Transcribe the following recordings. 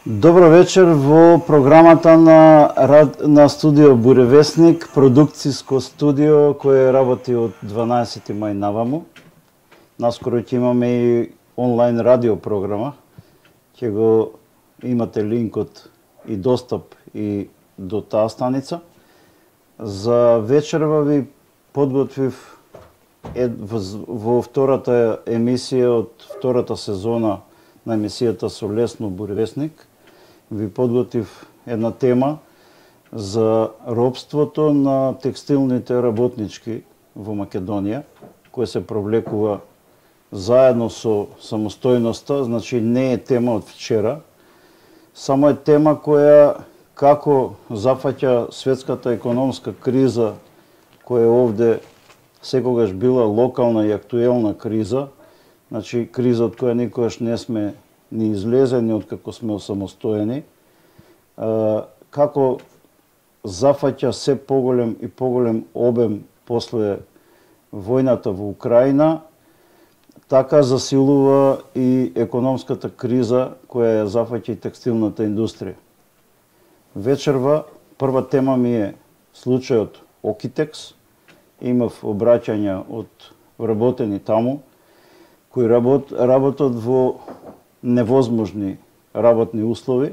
Добро вечер во програмата на студио Буревесник, продукциско студио кое работи од 12 мај наваму. Наскоро ќе имаме и онлайн радио програма. Ќе го имате линкот и достап и до таа станица. За вечерва ви подготвив во втората емисија од втората сезона на емисијата со Лесно Буревесник. Ви подготвив една тема за робството на текстилните работнички во Македонија, која се провлекува заедно со самостојноста, значи не е тема од вчера, само е тема која како зафаќа светската економска криза, која овде секогаш била локална и актуелна криза, значи криза од која никогаш не сме ни излезени од како сме осамостоени, како зафаќа се поголем и поголем обем после војната во Украина, така засилува и економската криза која ја зафаќа и текстилната индустрија. Вечерва прва тема ми е случајот Окитекс. Имав обраќања од вработени таму, кои работат во невозможни работни услови,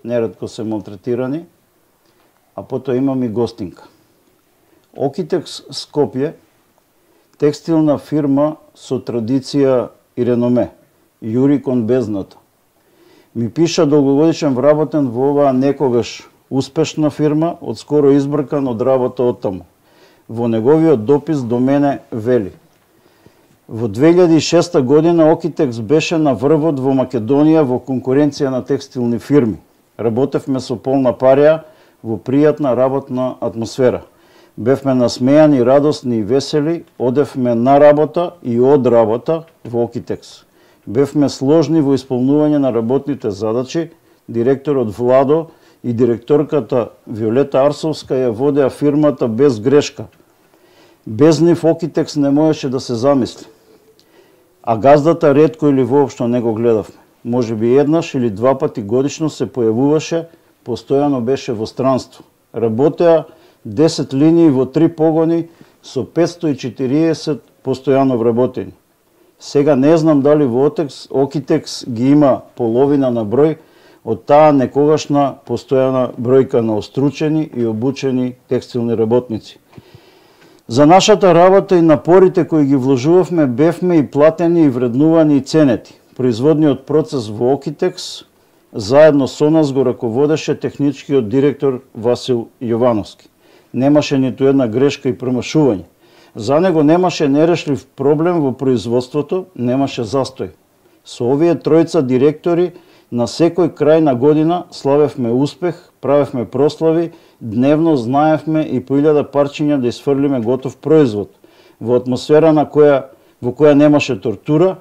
неретко се малтретирани, а потоа имам и гостинка. Окитекс Скопје, текстилна фирма со традиција и реноме, јури кон бездната. Ми пиша долгогодишен вработен во оваа некогаш успешна фирма, одскоро избркан од работа оттаму. Во неговиот допис до мене вели: во 2006 година Окитекс беше на врвот во Македонија во конкуренција на текстилни фирми. Работевме со полна парија во пријатна работна атмосфера. Бевме насмејани, радосни и весели, одевме на работа и од работа во Окитекс. Бевме сложни во исполнување на работните задачи, директорот Владо и директорката Виолета Арсовска ја водеа фирмата без грешка. Без нив Окитекс не можеше да се замисли. А газдата ретко или воопшто не го гледавме. Може би еднаш или два пати годишно се појавуваше, постојано беше во странство. Работеа 10 линии во 3 погони со 540 постојано вработени. Сега не знам дали во Окитекс ги има половина на број од таа некогашна постојана бројка на остручени и обучени текстилни работници. За нашата работа и напорите кои ги вложувавме бевме и платени и вреднувани и ценети. Производниот процес во Окитекс заедно со нас го раководеше техничкиот директор Васил Јовановски. Немаше ниту една грешка и промашување. За него немаше нерешлив проблем во производството, немаше застој. Со овие тројца директори на секој крај на година славевме успех, правевме прослави, дневно знаевме и по 1000 парчиња да изфрлиме готов производ, во атмосфера во која немаше тортура,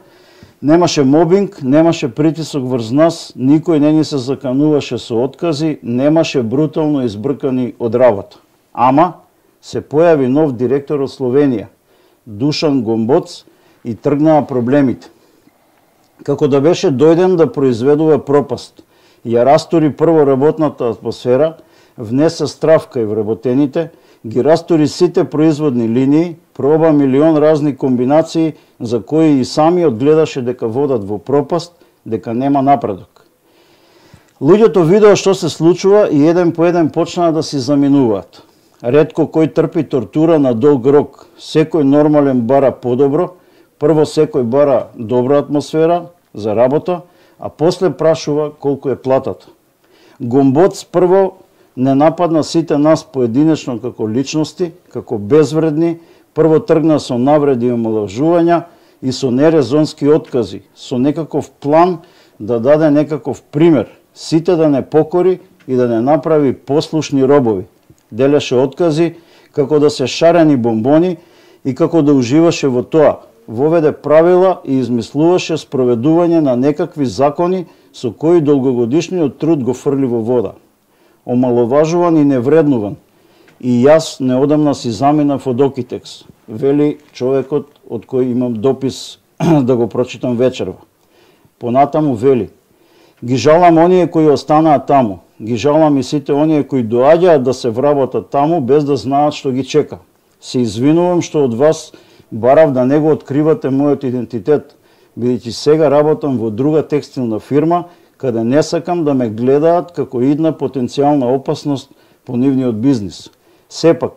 немаше мобинг, немаше притисок врз нас, никој не ни се закануваше со откази, немаше брутално избркани од работа. Ама се појави нов директор од Словенија, Душан Гомбоц, и тргнаа проблемите. Како да беше дојден да произведува пропаст. Ја растори прво работната атмосфера, внесе страв кај вработените, ги растори сите производни линии, проба милион разни комбинации за кои и самиот гледаше дека водат во пропаст, дека нема напредок. Луѓето видеа што се случува и еден по еден почнаа да си заминуваат. Ретко кој трпи тортура на долг рок, секој нормален бара подобро, прво секој бара добра атмосфера за работа, а после прашува колку е платата. Гомбоц прво не нападна сите нас поединечно како личности, како безвредни, прво тргна со навреди и омалажувања и со нерезонски откази, со некаков план да даде некаков пример, сите да не покори и да не направи послушни робови. Делеше откази како да се шарени бомбони и како да уживаше во тоа. Воведе правила и измислуваше спроведување на некакви закони со кои долгогодишниот труд го фрли во вода. Омаловажуван и невреднуван. И јас неодамна си заминав од Окитекс, вели човекот од кој имам допис да го прочитам вечерва. Понатаму вели: Ги жалам оние кои останаа таму. Ги жалам и сите оние кои доаѓаат да се вработат таму без да знаат што ги чека. Се извинувам што од вас барав да не го откривате мојот идентитет, бидејќи сега работам во друга текстилна фирма, каде не сакам да ме гледаат како идна потенцијална опасност по нивниот бизнис. Сепак,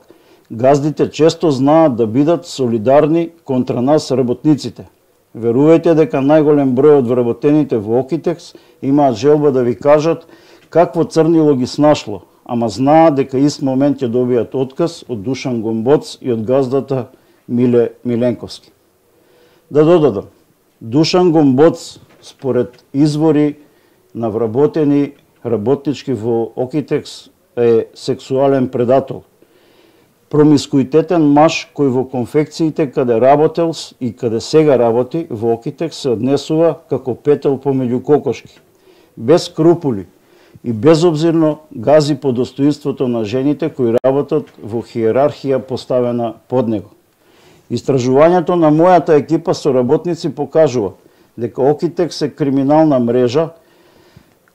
газдите често знаат да бидат солидарни контра нас работниците. Верувајте дека најголем број од вработените во Окитекс имаат желба да ви кажат какво црнило ги снашло, ама знаат дека ист момент ќе добијат отказ од Душан Гомбоц и од газдата Миле Миленковски. Да додадам, Душан Гомбоц, според извори на вработени работнички во Окитекс, е сексуален предатор. Промискуитетен маж кој во конфекциите каде работел и каде сега работи во Окитекс се однесува како петел помеѓу кокошки. Без скрупули и безобзирно гази по достоинството на жените кои работат во хиерархија поставена под него. Истражувањето на мојата екипа со работници покажува дека Окитекс е криминална мрежа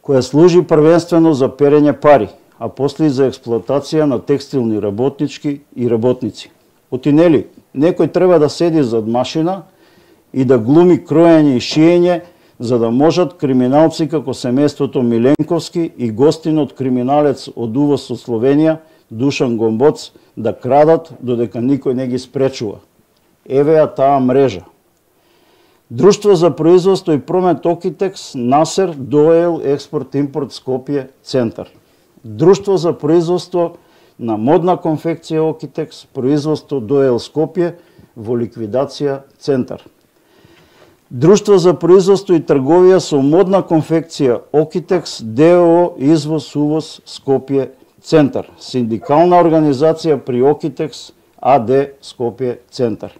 која служи првенствено за перење пари, а после и за експлоатација на текстилни работнички и работници. Отинели, некој треба да седи зад машина и да глуми кроење и шиење, за да можат криминалци како семејството Миленковски и гостинот криминалец од увоз од Словенија, Душан Гомбоц, да крадат додека никој не ги спречува. Еве ја таа мрежа. Друштво за производство и промет Окитекс, Насер, Доел, Експорт-импорт Скопје, Центар. Друштво за производство на модна конфекција Окитекс, производство Доел Скопје, во ликвидација Центар. Друштво за производство и трговија со модна конфекција Окитекс, ДОО, Извоз-увоз Скопје, Центар. Синдикална организација при Окитекс, АД Скопје, Центар.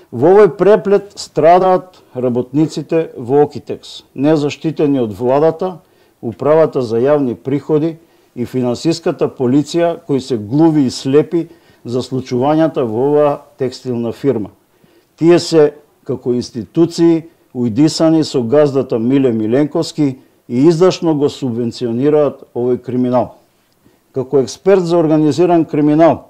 Во овој преплет страдаат работниците во Окитекс, незаштитени од владата, управата за јавни приходи и финансиската полиција кои се глуви и слепи за случувањата во оваа текстилна фирма. Тие се како институции уидисани со газдата Миле Миленковски и издашно го субвенционираат овој криминал. Како експерт за организиран криминал,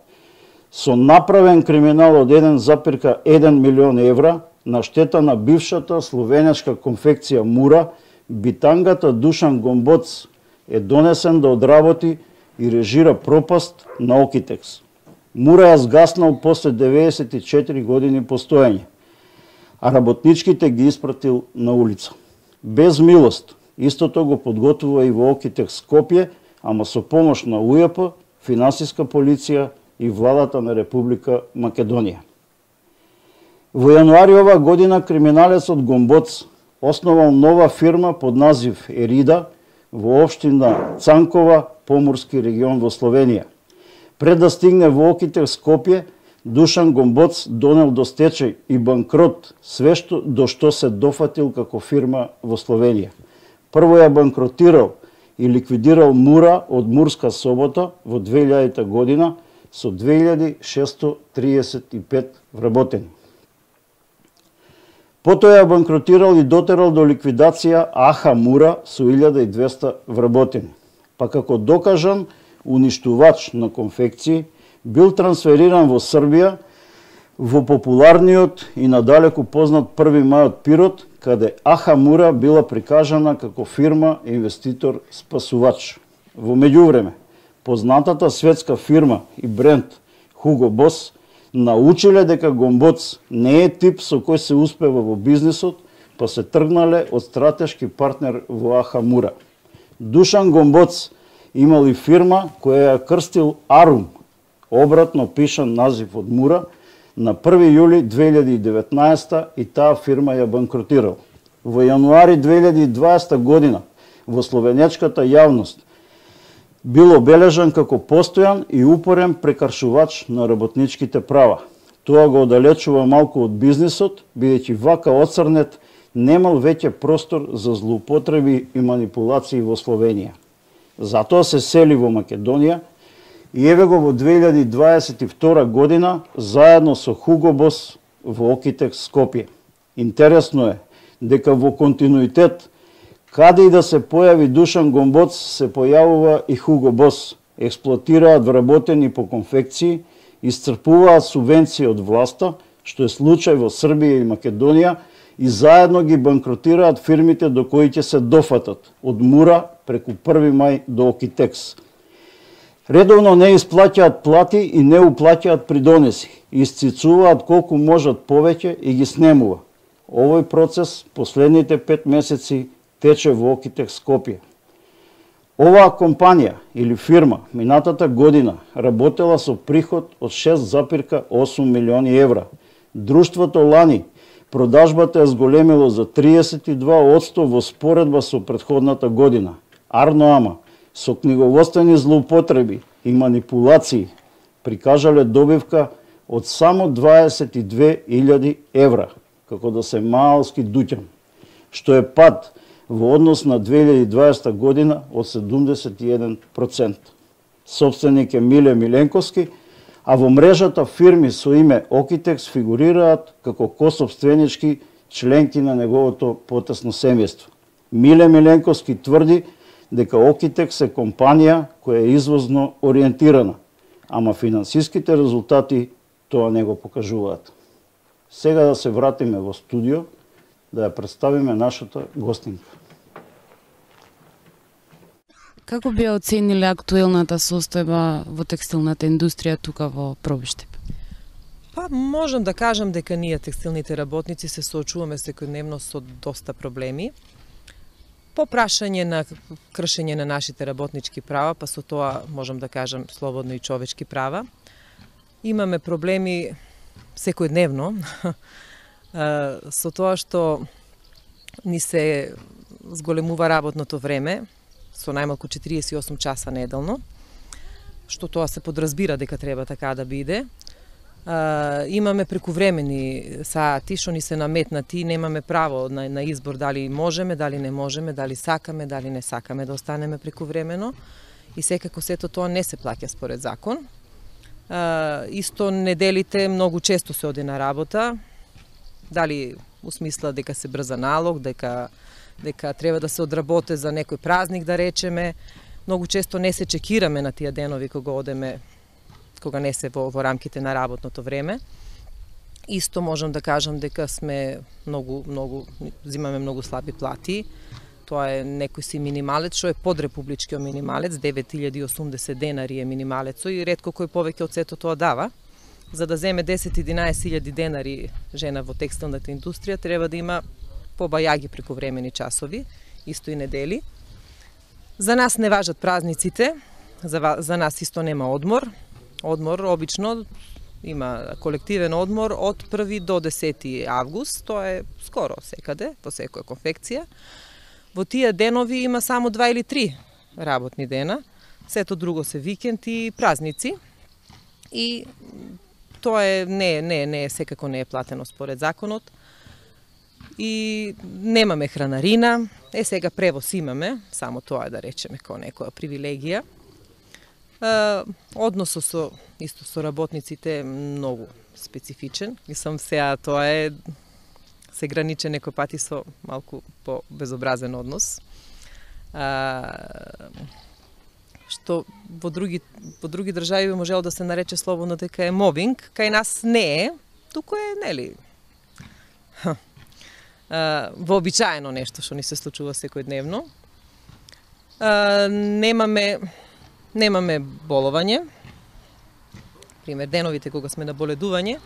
со направен криминал од 1,1 милион евра на штета на бившата словенечка конфекција Мура, битангата Душан Гомбоц е донесен да одработи и режира пропаст на Окитекс. Мура ја згаснал после 94 години постоење, а работничките ги испратил на улица. Без милост, истото го подготвува и во Окитекс Скопје, ама со помош на УЈП, финансиска полиција и владата на Република Македонија. Во јануари ова година криминалецот Гомбоц основал нова фирма под назив Ерида во општина Цанкова, Поморски регион во Словенија. Пред да стигне во Окитекс Скопје, Душан Гомбоц донел до стечај и банкрот све до што се дофатил како фирма во Словенија. Прво ја банкротирал и ликвидирал Мура од Мурска Собота во 2000 година со 2635 вработени. Потоа ја банкротирал и дотерал до ликвидација Аха Мура со 1200 вработени. Па како докажан уништувач на конфекции, бил трансфериран во Србија, во популарниот и надалеку познат 1. мај од Пирот, каде Аха Мура била прикажана како фирма инвеститор спасувач. Во меѓувреме, познатата светска фирма и бренд Hugo Boss научиле дека Гомбоц не е тип со кој се успева во бизнисот, па се тргнале од стратешки партнер во Аха Мура. Душан Гомбоц имал и фирма која ја крстил Арум, обратно пишан назив од Мура, на 1. јули 2019 и таа фирма ја банкротирал. Во јануари 2020 година во словенечката јавност бил обележан како постојан и упорен прекаршувач на работничките права. Тоа го оддалечува малку од бизнисот, бидејќи вака оцрнет немал веќе простор за злоупотреби и манипулации во Словенија. Затоа се сели во Македонија и еве го во 2022 година заедно со Hugo Boss во Окитекс Скопје. Интересно е дека во континуитет Каде и да се појави Душан Гомбоц, се појавува и Хуго Бос. Експлоатираат вработени по конфекции, исцрпуваат субвенции од власта, што е случај во Србија и Македонија, и заедно ги банкротираат фирмите до кои ќе се дофатат, од Мура преку 1. мај до Окитекс. Редовно не исплаќаат плати и не уплаќаат придонеси, исцицуваат колку можат повеќе и ги снемува. Овој процес последните 5 месеци тече во Окитекс Скопје. Оваа компанија или фирма минатата година работела со приход од 6,8 милиони евра. Друштвото лани продажбата е зголемило за 32% во споредба со претходната година. Арно ама, со книговодствени злоупотреби и манипулации прикажале добивка од само 22.000 евра, како да се малски дуќан, што е пад во однос на 2020 година од 71%. Собственик е Миле Миленковски, а во мрежата фирми со име Окитекс фигурираат како косопственички членки на неговото потесно семејство. Миле Миленковски тврди дека Окитекс е компанија која е извозно ориентирана, ама финансиските резултати тоа не го покажуваат. Сега да се вратиме во студио, да ја представиме нашата гостинка. Како би оцениле актуелната состојба во текстилната индустрија тука во Пробиштеп? Па, можам да кажам дека ние текстилните работници се соочуваме секојдневно со доста проблеми. По прашање на кршење на нашите работнички права, па со тоа можам да кажам слободно и човечки права. Имаме проблеми секојдневно со тоа што ни се зголемува работното време со најмалку 48 часа неделно, што тоа се подразбира дека треба така да биде. Имаме прекувремени сати што ни се наметнати, немаме право на избор дали можеме, дали не можеме, дали сакаме, дали не сакаме да останеме прекувремено, и секако сето тоа не се плаќа според закон. Исто неделите многу често се оди на работа, дали у смисла дека се брза налог, дека треба да се одработе за некој празник, да речеме. Многу често не се чекираме на тие денови кога одеме, кога не се во рамките на работното време. Исто можам да кажам дека сме зимаме многу слаби плати. Тоа е некој си минималец, што е под републичкиот минималец, 9080 денари е минималецо, и ретко кој повеќе од сето тоа дава. За да земе 10-11 денари жена во текстилната индустрија, треба да има побајаги прекувремени часови, исто и недели. За нас не важат празниците, за нас исто нема одмор. Одмор обично има колективен одмор од 1 до 10 август, тоа е скоро секаде, по секоја конфекција. Во тие денови има само 2 или 3 работни дена, сето друго се викенд и празници. И тоа не секако не е платено според законот. И немаме хранарина, сега превоз имаме, само тоа е да речеме како некоја привилегија. Односот со работниците е многу специфичен. Мислам сега тоа е се граничи некој пати со малку по-безобразен однос. Што во други држави би можело да се нарече слободно дека е мобинг, кај нас не е, туку е, нели, вообичаено нешто што ни се случува секојдневно. Немаме боловање. Пример, деновите кога сме на боледување,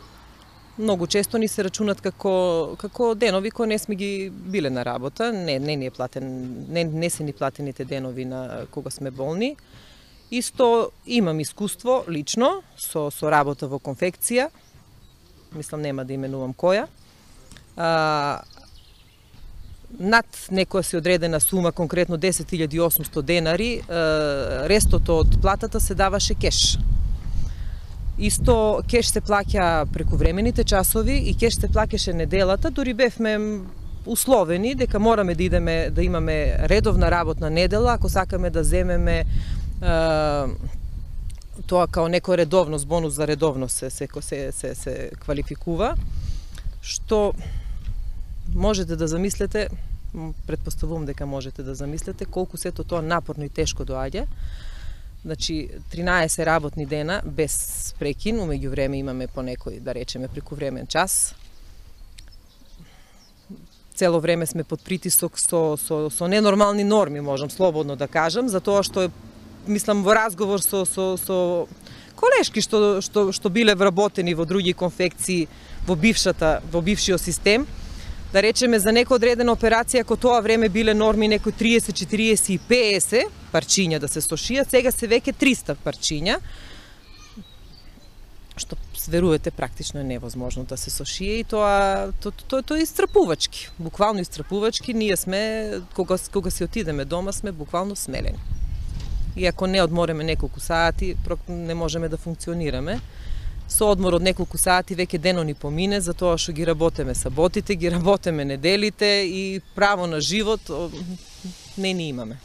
многу често ни се рачунат како денови кои не сме ги биле на работа, не се ни платените денови на кога сме болни. Исто имам искуство лично со работа во конфекција, мислам нема да именувам која. Над некоја си одредена сума, конкретно 10.800 денари, рестото од платата се даваше кеш. Исто кеш се плаќа прекувремените часови и кеш се плаќаше неделата, дури бевме условени дека мораме да имаме редовна работна недела ако сакаме да земеме тоа као некој редовност, бонус за редовност се квалификува, што можете да замислите Претпоставувам дека можете да замислите колку сето тоа напорно и тешко доаѓа. Значи, 13 работни дена без прекин, умеѓу време имаме по некој, да речеме, прекувремен час. Цело време сме под притисок со ненормални норми, можам слободно да кажам, затоа што мислам во разговор со колешки што биле вработени во други конфекции во бившиот систем, да речеме за некоја одредена операција, ако тоа време биле норми некои 30, 40 и 50 парчиња да се сошијат, сега се веќе 300 парчиња, што верувате практично е невозможно да се сошие и тоа е истрапувачки, буквално истрапувачки. Ние сме, кога си отидеме дома, сме буквално смелени. И ако не одмореме неколку сати, не можеме да функционираме. Со одмор од неколку сати веќе денот ни помине, затоа што ги работеме саботите, ги работеме неделите и право на живот не ни имаме.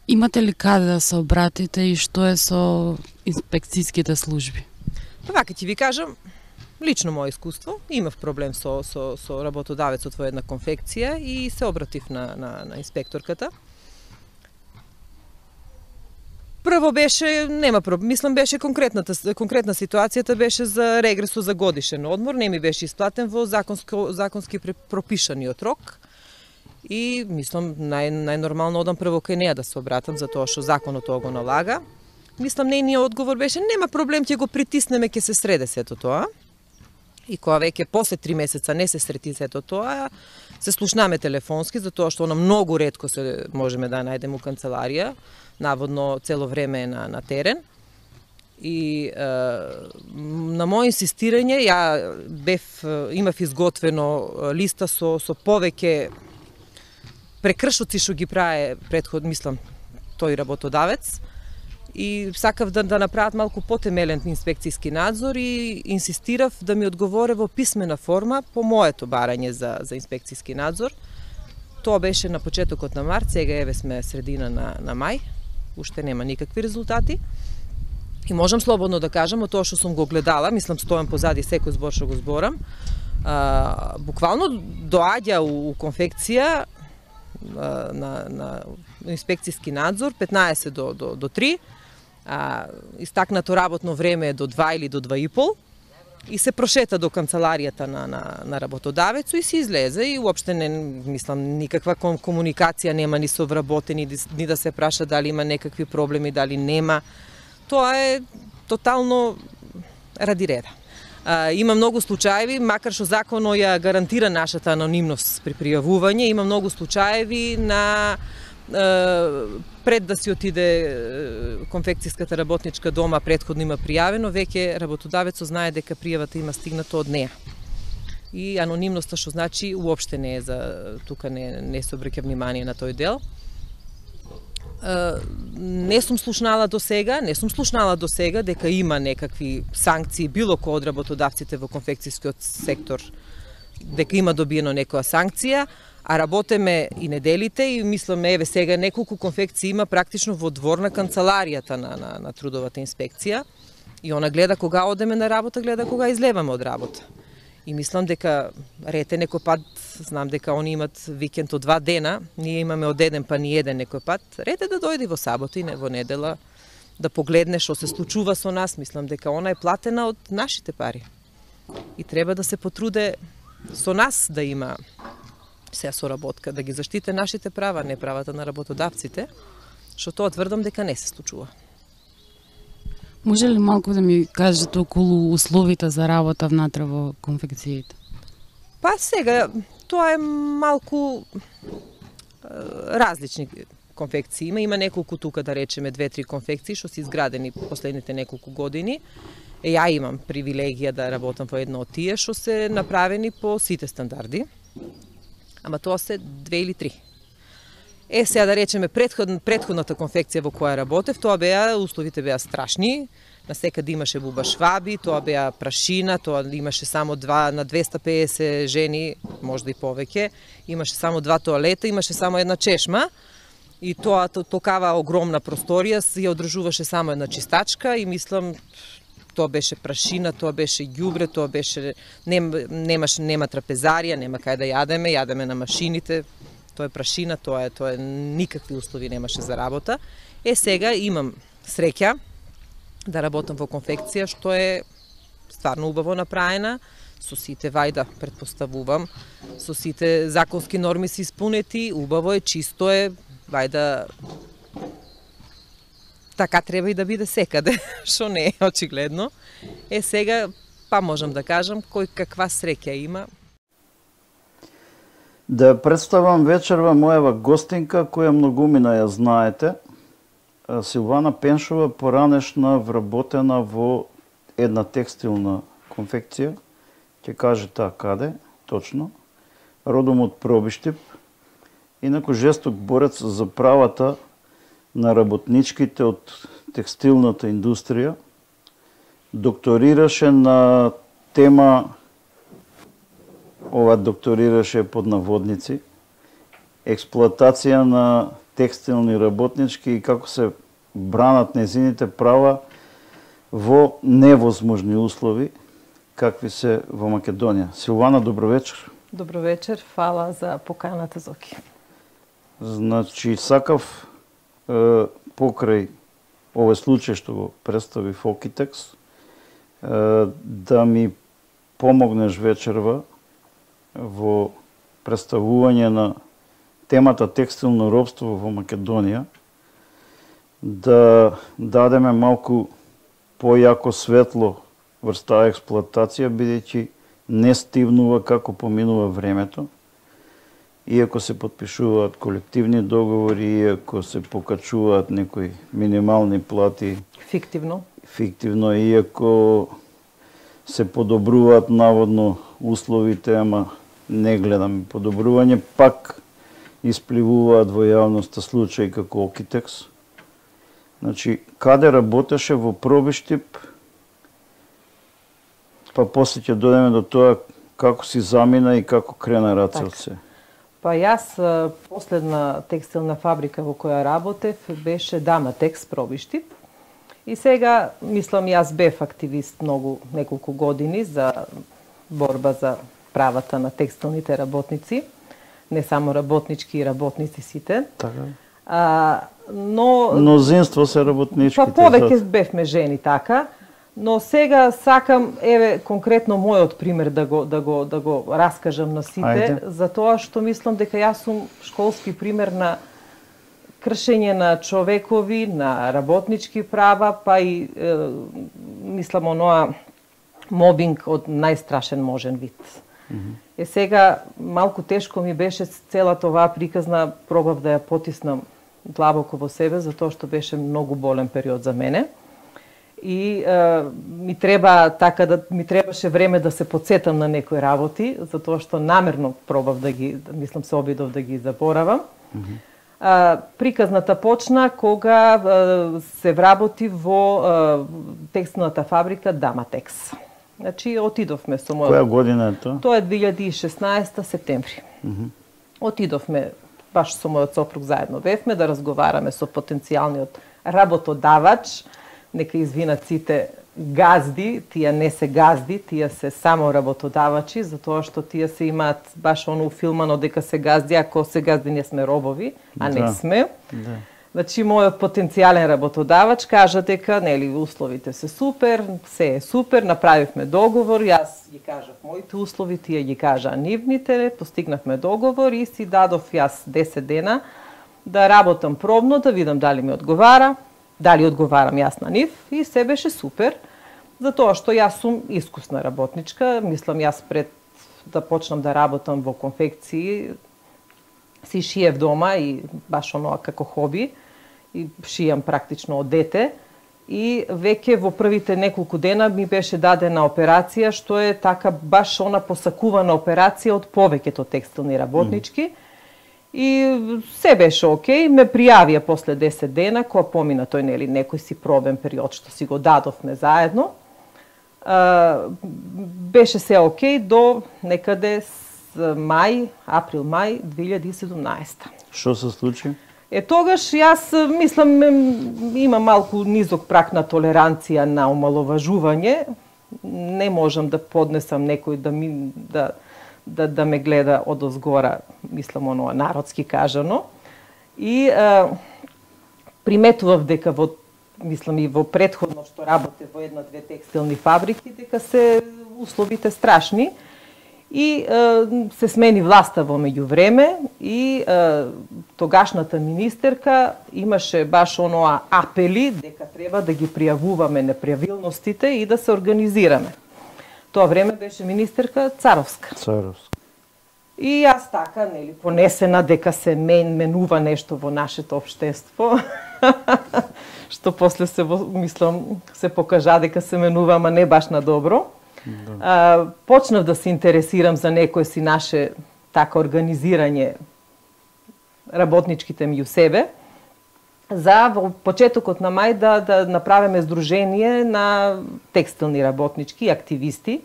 Имате ли каде да се обратите и што е со инспекцијските служби? Па вака ќе ви кажам, лично моје искуство, имав проблем со работодавецот во една конфекција и се обратив на инспекторката. Прво беше, нема проблем, мислам беше конкретна ситуацијата беше за регресо за годишен одмор, не ми беше исплатен во законски пропишаниот рок. И мислам најнормално одам прво кај неа да се обратам затоа што законот тоа го налага. Мислам нејниот одговор беше нема проблем, ќе го притиснеме, ќе се среде сето тоа. И кога веќе после 3 месеца не се среди сето тоа, се слушнаме телефонски затоа што она многу ретко се можеме да најдеме у канцеларија, наводно цело време е на терен. И на моје инсистирање имав изготвено листа со повеќе прекршоци што ги прави мислам, тој работодавец и сакав да направат малку потемелен инспекцијски надзор и инсистирав да ми одговоре во писмена форма по моето барање за инспекцијски надзор. Тоа беше на почетокот на март, сега еве сме средина на мај, уште нема никакви резултати. И можам слободно да кажам, од тоа што сум го гледала, мислам стојам позади секој збор што го зборам, буквално доаѓа у конфекција на инспекцијски надзор 15 до 3, истакнато работно време е до 2 или до 2,5 и се прошета до канцеларијата на работодавецот и се излезе и уопште не мислам никаква комуникација нема ни со вработени ни да се праша дали има некакви проблеми, дали нема. Тоа е тотално ради реда. Има многу случаеви, макар што законот ја гарантира нашата анонимност при пријавување, има многу случаеви на пред да си отиде конфекцијската работничка дома, претходно има пријавено, веќе работодавецот знае дека пријавата има стигнато од неа. И анонимноста што значи уопште не е тука не се обраќа внимание на тој дел. Не сум слушнала до сега дека има некакви санкции било кој од работодавците во конфекцијскиот сектор, дека има добиено некоја санкција, а работеме и неделите и мислам еве сега неколку конфекции има практично во двор на канцеларијата на трудовата инспекција и она гледа кога одеме на работа, гледа кога излеваме од работа. И мислам дека рете некој пат, знам дека они имат викенд од 2 дена, ние имаме од еден па ни еден некој пат, рете да дојде во сабота и не во недела, да погледне што се случува со нас, мислам дека она е платена од нашите пари. И треба да се потруде со нас да има соработка, да ги заштите нашите права, не правата на работодавците, што тоа тврдам дека не се случува. Може ли малку да ми кажете околу условите за работа внатре во конфекциите? Па сега, тоа е малку различни конфекции. Има неколку тука, да речеме, 2-3 конфекции што се изградени последните неколку години. Ја имам привилегија да работам во едно од тие што се направени по сите стандарди. Ама тоа се 2 или 3. Сега да речеме претходната конфекција во која работев, условите беа страшни. Насекаде имаше буба шваби, тоа беа прашина, тоа имаше само на 250 жени, можда и повеќе, имаше само 2 тоалета, имаше само една чешма и тоа токава огромна просторија ја одржуваше само една чистачка и мислам тоа беше прашина, тоа беше ѓубре, тоа беше нема трапезарија, нема кај да јадеме на машините. Тоа е прашина, тоа е никакви услови немаше за работа. Сега имам среќа да работам во конфекција, што е стварно убаво направена, со сите вајда, претпоставувам, со сите законски норми се испунети, убаво е, чисто е, вајда така треба и да биде секаде, што не е очигледно. Сега, па можам да кажам, кој каква среќа има. Да представам вечерва мојава гостинка, која многумина ја знаете, Силвана Пеншова, поранешна вработена во една текстилна конфекција, ќе каже таа каде, точно, родом од Пробиштип, инаку жесток борец за правата на работничките од текстилната индустрија, докторираше на тема, ова докторираше под наводници, експлоатација на текстилни работнички и како се бранат незините права во невозможни услови, какви се во Македонија. Силвана, добро вечер. Добро вечер, фала за поканата, Зоки. Значи, сакав покрај овој случај што го представи Фокитекс, да ми помогнеш вечерва во представување на темата текстилно робство во Македонија, да дадеме малку појако светло врз таа експлоатација, бидејќи не стивнува како поминува времето, иако се подпишуваат колективни договори, иако се покачуваат некои минимални плати фиктивно, иако се подобруваат наводно условите, ама не гледаме подобрување, пак испливуваат во јавноста случаи како Окитекс. Значи, каде работеше во Пробиштип, па после ќе дојдеме до тоа како си замина и како крена раце од се. Па јас, последна текстилна фабрика во која работев беше Даматекс Пробиштип. И сега, мислам, јас бев активист неколку години за борба за правата на текстилните работници, не само работнички и работници сите. Така. Но мнозинство се работничките. Па повеќе бевме жени, така. Но сега сакам, конкретно мојот пример да го раскажам на сите, за тоа што мислам дека јас сум школски пример на кршење на човекови, на работнички права, па и мислам оноа мобинг од најстрашен можен вид. Сега малку тешко ми беше целата оваа приказна, пробав да ја потиснам длабоко во себе, затоа што беше многу болен период за мене. И ми требаше време да се подсетам на некои работи, затоа што намерно пробав мислам се обидов да ги заборавам. Приказната почна кога се вработи во текстилната фабрика Даматекс. Значи, отидовме со мојот... Која година е тоа? Тоа е 2016 септември. Отидовме, баш со мојот сопруг заедно бевме, да разговараме со потенцијалниот работодавач. Нека извинат сите газди, тие не се газди, тие се само работодавачи, затоа што тие се имаат баш оно филмано дека се газди, ако се газди не сме робови, а не сме. Значи, мојот потенцијален работодавач кажа дека, нели, условите се супер, се е супер, направивме договор, јас ги кажав моите услови, тие ги кажа нивните, постигнавме договор и си дадов јас 10 дена да работам пробно, да видам дали ми одговара, дали одговарам јас на нив, и се беше супер, затоа што јас сум искусна работничка, мислам јас пред да почнам да работам во конфекции, си шиев дома и баш оноа како хоби, и шијам практично од дете, и веќе во првите неколку дена ми беше дадена операција, што е така баш она посакувана операција од повеќето текстилни работнички, и се беше окей, ме пријавија после 10 дена, кога помина тој, нели, некој си пробен период што си го дадовме заедно. Беше се окей до некаде април-мај 2017. Што се случи? Тогаш јас мислам има малку низок прак на толеранција на омаловажување. Не можам да поднесам некој да ме гледа одозгора, мислам оно народски кажано. И приметував дека мислам и во претходно што работе во една-две текстилни фабрики, дека се условите страшни. И се смени власта во меѓувреме и тогашната министерка имаше баш оноа апели дека треба да ги пријавуваме неправилностите и да се организираме. Тоа време беше министерка Царовска. И јас така, нели, понесена дека се менува нешто во нашето општество, што после мислам се покажа дека се менува, ама не баш на добро. Почнав да се интересирам за некое си наше така организирање работничките меѓу себе, за во почетокот на мај да направиме здружение на текстилни работнички и активисти.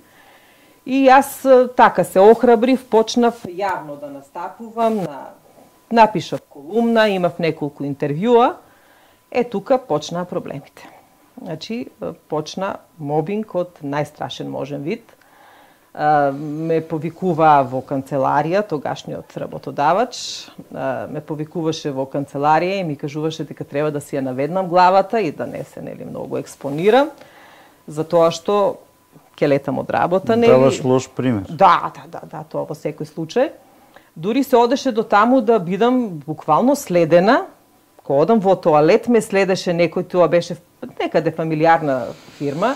И јас така се охрабрив, почнав јавно да настапувам, напишав колумна, имав неколку интервјуа. Тука почнаа проблемите. Значи, почна мобинг од најстрашен можен вид. Ме повикуваа во канцеларија, тогашниот работодавач, ме повикуваше во канцеларија и ми кажуваше дека треба да си ја наведнам главата и да не се многу експонирам, затоа што ќе летам од работа. Даваш лош пример. Да, тоа во секој случај. Дури се одеше до таму да бидам буквално следена. Кога одам во тоалет, ме следеше некој, тоа беше некаде фамилиарна фирма,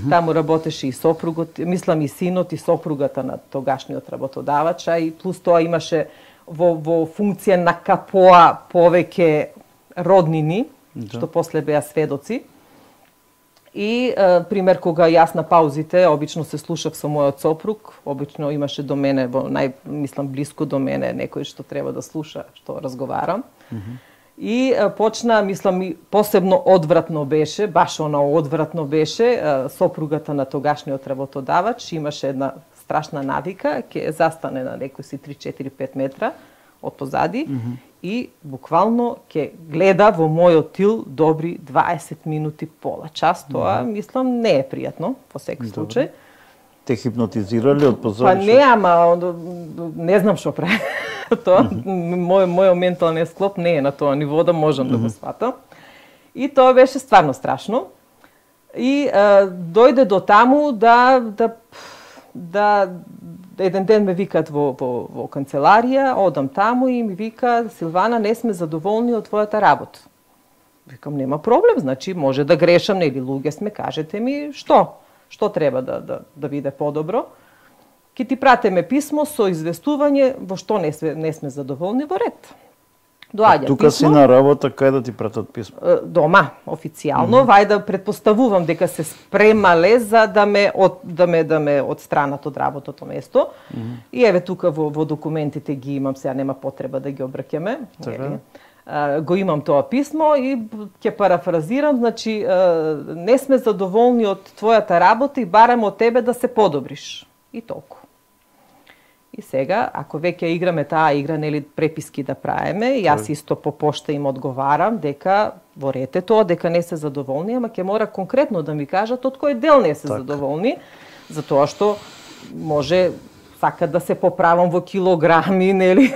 таму работеше и сопругот, мислам и синот и сопругата на тогашниот работодавача, и плюс тоа имаше во функција на КПО повеќе роднини, што после беа сведоци. И, пример, кога јас на паузите, обично се слушав со мојот сопруг, обично имаше до мене, мислам, блиско до мене, некој што треба да слуша што разговарам. И почна, мислам, посебно одвратно беше, баш одвратно беше, сопругата на тогашниот работодавач имаше една страшна навика, ќе застане на некој си 3-4-5 метра од позади и буквално ќе гледа во мојот тил добри 20 минути, пола час. Тоа, мислам, не е пријатно, во секој случај. Те хипнотизирали од позади? Па не, ама не знам што прави. Тоа, мојот ментален склоп не е на тоа ниво да можам да го сватам. И тоа беше стварно страшно. И дојде до таму да еден ден ме викаат во канцеларија, одам таму и ми вика: Силвана, не сме задоволни од твојата работа. Викам, нема проблем, значи може да грешам, нели луѓе сме, кажете ми што треба да биде подобро. Ке ти пратиме писмо со известување во што не сме задоволни, во ред. Доаѓа тука писмо. Си на работа, кај да ти пратат писмо? Дома, официјално. Вајда предпоставувам дека се спремале за да ме одстранат од работото место. И еве тука во документите ги имам, сега нема потреба да ги обраќаме. Го имам тоа писмо и ќе парафразирам, значи не сме задоволни од твојата работа и бараме од тебе да се подобриш. И толку. И сега, ако веќе играме таа игра, нели, преписки да правиме, јас исто по пошта им одговарам дека во ред е тоа, дека не се задоволни, ама ќе мора конкретно да ми кажат од кој дел не се задоволни, затоа што може сакат да се поправам во килограми, нели?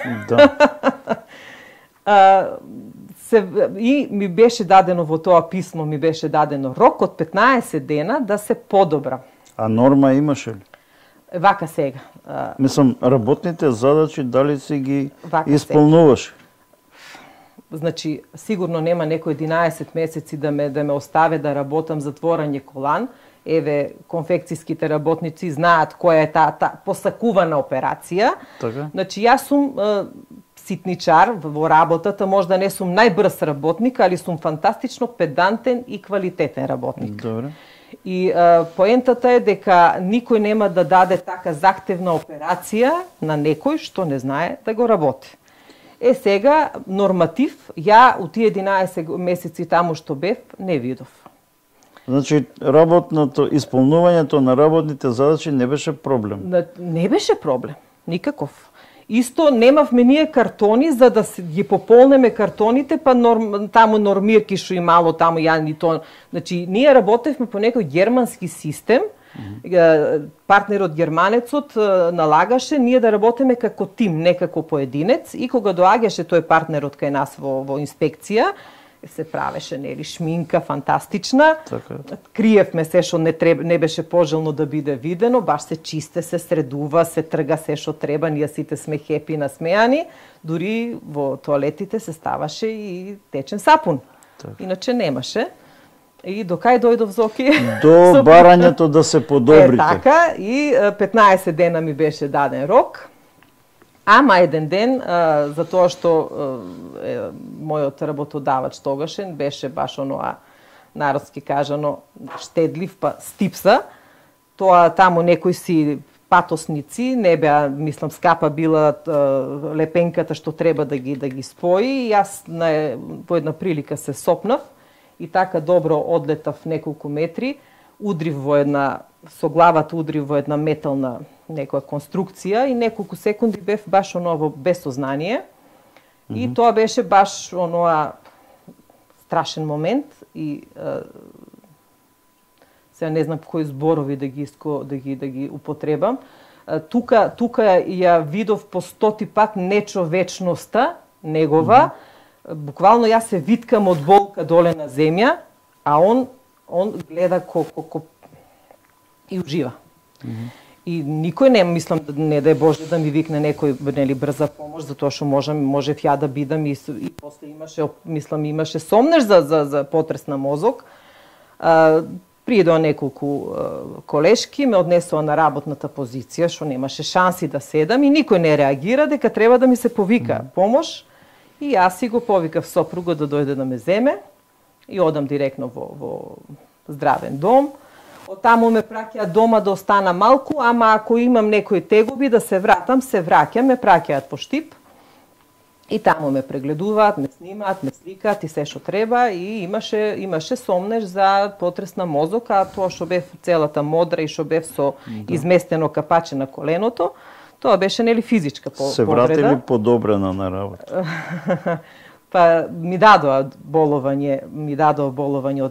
И ми беше дадено во тоа писмо, ми беше дадено рок од 15 дена да се подобрам. А норма имаше ли? Вака сега. Мислам, работните задачи дали си ги исполнуваш? Значи, сигурно нема некој 11 месеци да ме оставе да работам затворање колан. Еве, конфекцијските работници знаат која е таа посакувана операција. Така? Значи, јас сум ситничар во работата, можда не сум најбрз работник, али сум фантастично педантен и квалитетен работник. Добре. И поентата е дека никој нема да даде така захтевна операција на некој што не знае да го работи. Сега, норматив, ја у тие 11 месеци таму што бев, не видов. Значи, исполнувањето на работните задачи не беше проблем? Не беше проблем, никаков. Исто немавме ние картони за да ги пополнеме картоните, па таму нормирки што и мало таму ја ни то. Значи ние работевме по некој германски систем. Партнерот германецот налагаше ние да работиме како тим, не како поединец, и кога доаѓаше тој партнерот кај нас во инспекција, се правеше нели шминка фантастична. Така. Криевме се што не беше пожелно да биде видено, баш се чисте, се средува, се трга се што треба, ние сите сме хепи насмеани, дури во тоалетите се ставаше и течен сапун. Так. Иначе немаше. И до кај дојдов, Зоки? До барањето да се подобрите. Така, и 15 дена ми беше даден рок. Ама еден ден, за тоа што мојот работодавач тогашен беше баш оноа, народски кажано, штедлив, па стипса. Тоа таму некои си патосници, не беа, мислам, скапа била лепенката што треба да ги спои. И јас по една прилика се сопнав и така добро одлетав неколку метри, удрив во една, со главата удрив во една метална некоја конструкција и неколку секунди бев баш оново без сознание. И тоа беше баш оноа страшен момент и сега не знам кои зборови да ги употребам. Тука ја видов по 100 пат нечовечноста негова. Буквално јас се виткам од болка доле на земја, а он гледа и ужива. И никој не, мислам, не да е Боже да ми викне некој нели брза помош, затоа што можев ја да бидам и после имаше сомнеш за потрес на мозок. Пријдоа неколку колешки, ме однесоа на работната позиција, што немаше шанси да седам и никој не реагира дека треба да ми се повика помош. И јас си го повикав сопругот да дојде да ме земе и одам директно во здравен дом. Од таму ме праќаат дома да остана малку, ама ако имам некои тегоби да се вратам, се враќам, ме праќаат по Штип. И таму ме прегледуваат, ме снимаат, ме сликаат и се што треба и имаше сомнеш за потрес на мозок, а тоа што бев целата модра и што бев со изместено капаче на коленото, тоа беше нели физичка повреда. Се вратили подобрена на работа. Па ми дадоа боловање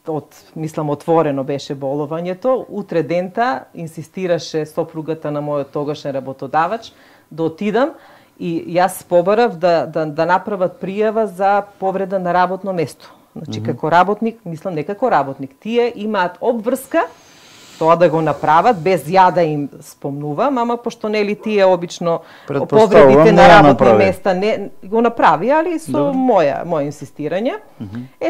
од мислам отворено беше боловањето. Утре дента инсистираше сопругата на мојот тогашен работодавач да отидам и јас побарав да направат пријава за повреда на работно место. Значи како работник, мислам не како работник, тие имаат обврска тоа да го направат без ја да им спомнувам, ама пошто нели тие обично повредите на работни места не го направи, али со моја инсистирање.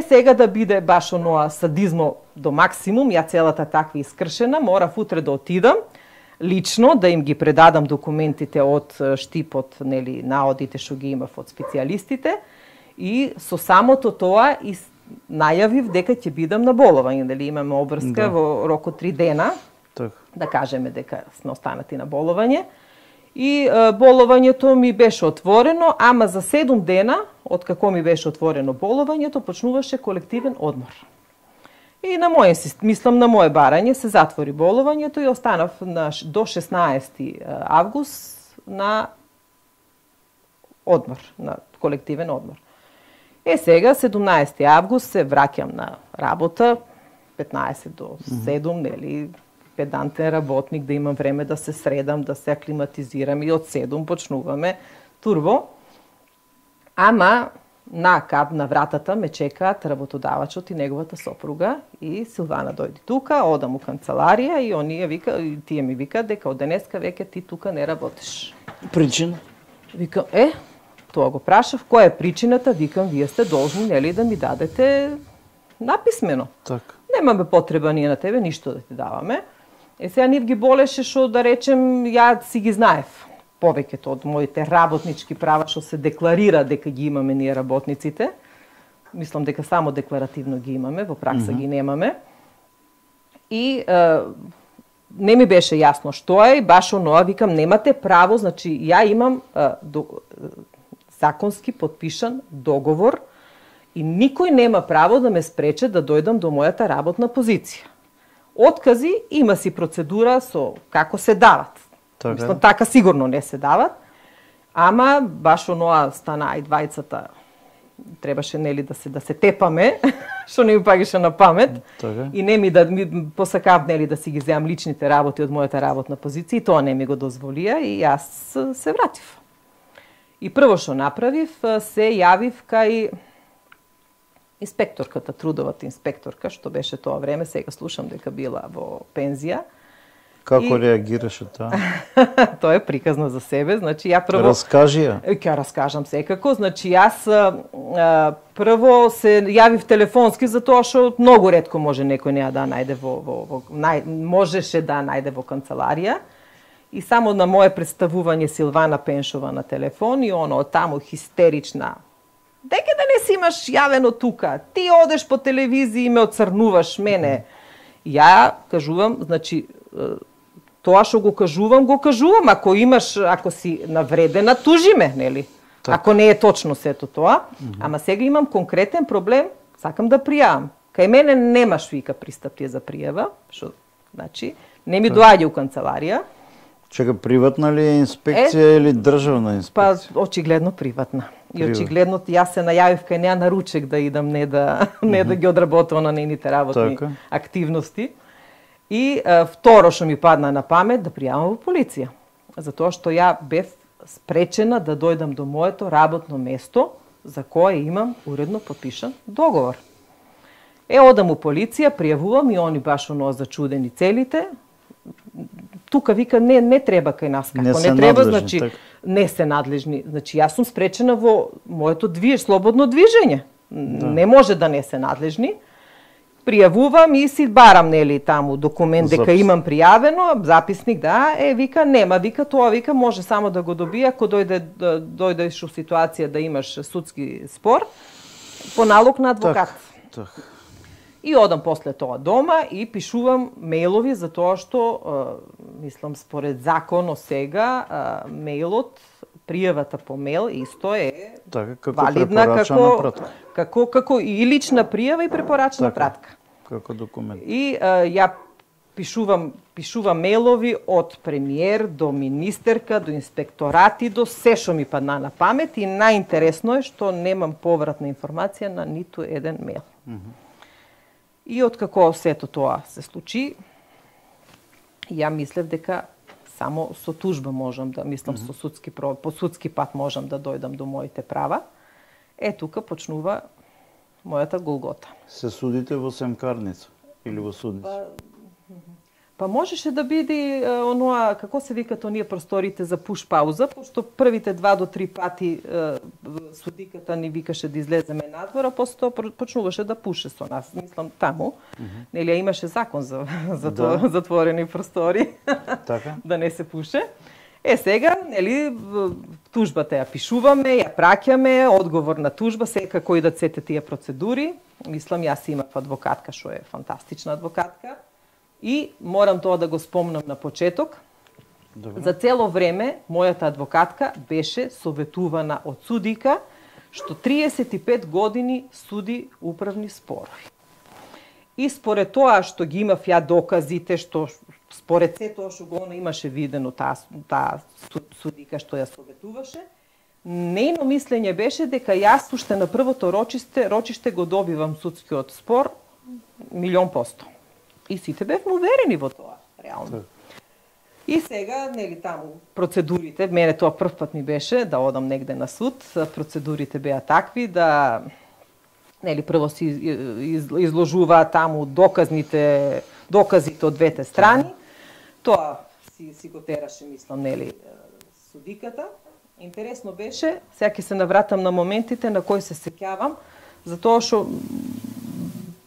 Сега да биде баш оноа садизмо до максимум, ја целата таква искршена, морав утре да отидам лично да им ги предадам документите од Штипот, нели наодите што ги имав од специјалистите и со самото тоа и најавив дека ќе бидам на боловање, дали имаме обврска во рок од 3 дена, да кажеме дека сме останати на боловање. И боловањето ми беше отворено, ама за 7 дена, од како ми беше отворено боловањето, почнуваше колективен одмор. И на моје барање се затвори боловањето и останав до 16 август на одмор, на колективен одмор. Сега, 17 август, се враќам на работа, 15 до 7, нели, педантен работник, да имам време да се средам, да се аклиматизирам и од 7 почнуваме турбо. Ама на вратата ме чекаат работодавачот и неговата сопруга и Силвана дојди тука, одам у канцеларија и тие ми викаат дека од денеска веќе ти тука не работиш. Причина? Викам, тоа го прашав, која е причината? Викам, вие сте должни, нели, да ми дадете написмено. Така. Немаме потреба ние на тебе ништо да ти даваме. Сега нив ги болеше што, да речем, ја си ги знаев. Повеќето од моите работнички права што се декларира дека ги имаме ние работниците. Мислам дека само декларативно ги имаме, во пракса ги немаме. И не ми беше јасно што е, баш оноа, викам, немате право, значи ја имам законски подпишан договор и никој нема право да ме спрече да дојдам до мојата работна позиција. Откази има си процедура со како се дават. Така. Мислам, така сигурно не се дават. Ама баш оноа стана и двајцата требаше нели да се тепаме, што не ми пагаше на памет. Така. И не ми посакав нели да си ги земам личните работи од мојата работна позиција, и тоа не ми го дозволија и јас се вратив. И прво што направив, се јавив кај инспекторката, трудовата инспекторка, што беше тоа време, сега слушам дека била во пензија. Како реагираше таа? Тоа е приказна за себе, значи ја прво... Раскажи ја. Ќе раскажам секако, значи јас прво се јавив телефонски затоа што многу ретко може некој неа да најде можеше да најде во канцеларија. И само на мое представување Силвана Пеншова на телефон и оно таму хистерична. Дека да не си имаш јавено тука, ти одеш по телевизија и ме оцрнуваш мене. Ја кажувам, значи, тоа што го кажувам, ако си навредена, тужи ме, нели? Так. Ако не е точно сето тоа. Ама сега имам конкретен проблем, сакам да пријавам. Кај мене немаш вика пристапие за пријава, што, значи, не ми доаѓа у канцеларија. Чека, приватна ли е инспекција или државна инспекција? Па, очигледно приватна. И очигледно јас се најавив кај неа на ручек да идам, не да ги одработувам на нейните работни активности. И второ што ми падна на памет, да пријавам во полиција. Затоа што ја бев спречена да дојдам до моето работно место, за кое имам уредно подпишан договор. Одам у полиција, пријавувам и они баш оно зачудени целите. Тука вика не треба кај нас, како не треба, значи так. Не се надлежни. Значи јас сум спречена во моето слободно движење. Да. Не може да не се надлежни. Пријавувам и си барам нели таму документ дека имам пријавено, записник, да, вика нема, вика тоа, вика може само да го добија ако дојдеш у ситуација да имаш судски спор по налог на адвокат. Так. И одам после тоа дома и пишувам мејлови за тоа што мислам според законот сега мејлот, пријавата по мејл исто е валидна како и лична пријава и препорачна пратка. Како документ. И ја пишувам мејлови од премиер до министерка, до инспекторати, до се што ми падна на памет и најинтересно е што немам повратна информација на ниту еден мејл. И откако сето тоа се случи, ја мислев дека само со тужба можам да, мислам по судски пат можам да дојдам до моите права. Тука почнува мојата голгота. Се судите во семкарница или во судница? Па можеше да биде оноа, како се викат оние просторите за пуш пауза, пошто првите 2 до 3 пати судиката ни викаше да излеземе надвор, а после тоа почнуваше да пуше со нас. Мислам таму, нели имаше закон за тоа, затворени простори, така? Да не се пуше. Сега, нели, тужбата ја пишуваме, ја праќаме, одговор на тужба, сега кои да сете тие процедури. Мислам, јас имав адвокатка, што е фантастична адвокатка. И морам тоа да го спомнам на почеток. Добре. За цело време мојата адвокатка беше советувана од судика што 35 години суди управни спорови. И според тоа што ги имав ја доказите, што според се тоа што го имаше видено таа судика што ја советуваше, нејно мислење беше дека јас уште на првото рочиште го добивам судскиот спор 100%. И сите бевме уверени во тоа, реално. И сега, нели таму, процедурите, мене тоа прв пат ми беше да одам негде на суд, процедурите беа такви да, нели, прво си изложуваат таму доказите од двете страни, тоа си го тераше, мислам, нели, судиката. Интересно беше, сега ќе се навратам на моментите на кои се сеќавам, затоа што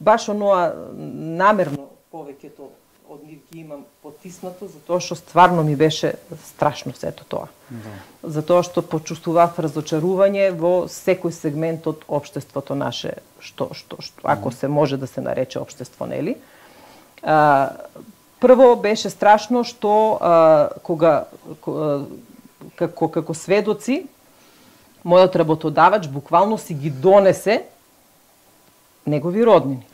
баш оноа намерно повеќето од нив ги имам потиснато, затоа што стварно ми беше страшно сето тоа. Да. Затоа што почувствував разочарување во секој сегмент од општеството наше, што ако се може да се нарече општество, нели? Прво беше страшно што како сведоци мојот работодавач буквално си ги донесе негови роднини.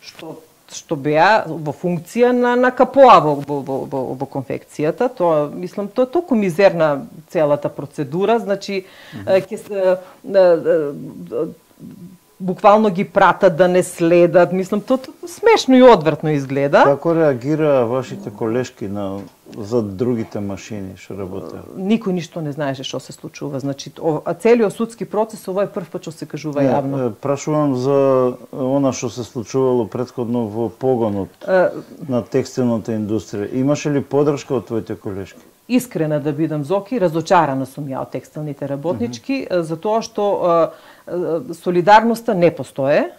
Што што беа во функција на КПО во конфекцијата. Тоа, мислам, тоа е толку мизерна целата процедура, значи буквално ги пратат да не следат, мислам, тоа смешно и одвратно изгледа. Како реагира вашите колешки за другите машини што работеат? Никој ништо не знаеше што се случува. Значи, целиот судски процес ова е прв пат што се кажува јавно. Прашувам за она што се случувало претходно во погонот на текстилната индустрија. Имаше ли поддршка од твоите колешки? Искрена да бидам, Зоки, разочарана сум ја од текстилните работнички, затоа што солидарноста не постое.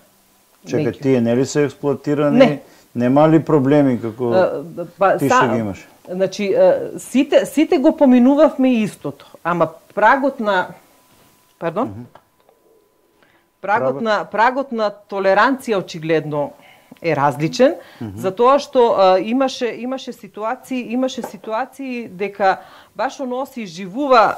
Чекај, тие нели се експлоатирани? Не. Нема ли проблеми како ти што ги имаш? Значи, сите го поминувавме истото, ама прагот на толеранција очигледно е различен, затоа што имаше ситуации дека баш оно се изживува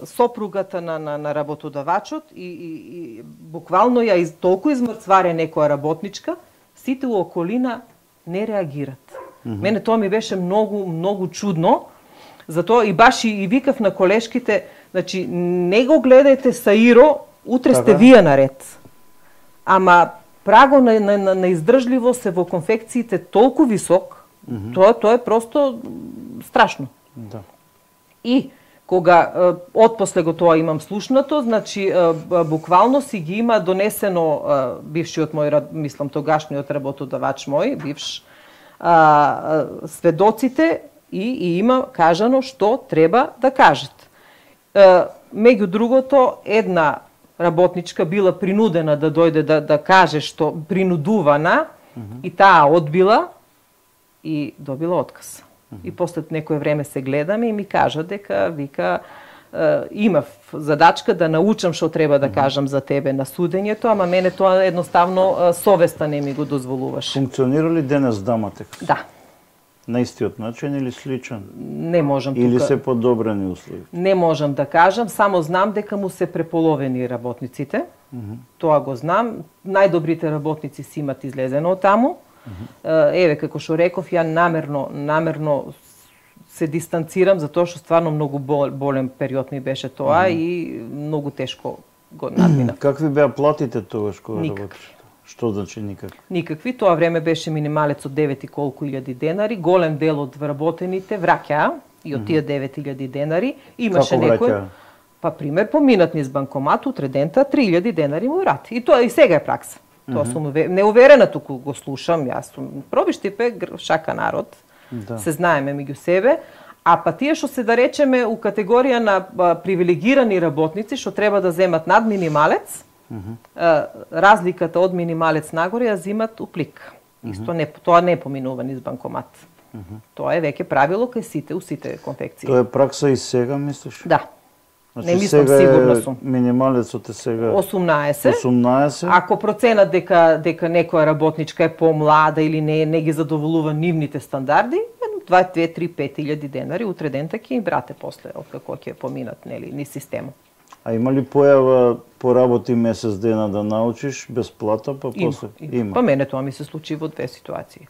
сопругата на работодавачот и буквално ја толку измрцваре некоја работничка, сите у околина не реагират. Мене тоа ми беше многу чудно, затоа и баш и викав на колешките, значи не го гледајте Саиро, утре сте вие наред. Ама прагот на издржливост е во конфекциите толку висок, тоа е просто страшно. Да. И кога отпосле го тоа имам слушнато, значи буквално си ги има донесено бившиот мој, мислам тогашниот работодавач мој, бивш, сведоците и има кажано што треба да кажат. Меѓу другото, една работничка била принудена да дојде да каже што принудувана и таа одбила и добила отказ. И после некое време се гледаме и ми кажа дека вика имав задачка да научам што треба да кажам за тебе на судењето, ама мене тоа едноставно совеста не ми го дозволуваше. Функционира ли денес Даматекс? Да. На истиот начин или сличен? Не можам тука. Или се подобрени услови? Не можам да кажам, само знам дека му се преполовени работниците. Тоа го знам. Најдобрите работници си имат излезено од таму. Еве, како што реков, ја намерно се дистанцирам, затоа што стварно многу болен период ми беше тоа и многу тешко го надминав. Какви беа платите тогаш кога Никакви. работиш? Што значи никакви? Никакви. Тоа време беше минималец од 9 и колку илјади денари. Голем дел од вработените враќаа и од тие 9000 денари. Имаше Како некој... враќаа? Па, пример, поминат низ банкомат, утре дента 3000 денари му врати. И тоа и сега е пракса. Тоа сум неуверена, туку го слушам, јас сум пробиштипе, шака народ, се знаеме меѓу себе, а па тие што се да речеме у категорија на привилегирани работници, што треба да земат над минималец, разликата од минималец нагоре ја зимат у плик. Исто тоа не поминува низ банкомат. Тоа е веќе правило кај сите, у сите конфекции. Тоа е пракса и сега, мислиш? Да. Значи, Не мислам, сигурно сум. Минималецот е сега 18. Ако проценат дека некоја работничка е помлада или не ги задоволува нивните стандарди, 2, 3, 5 денари утре дента ќе им брате после, откако ќе поминат ни системот. А има ли појава поработи месец дена да научиш без плата, па после? Има. Па мене тоа ми се случи во две ситуации.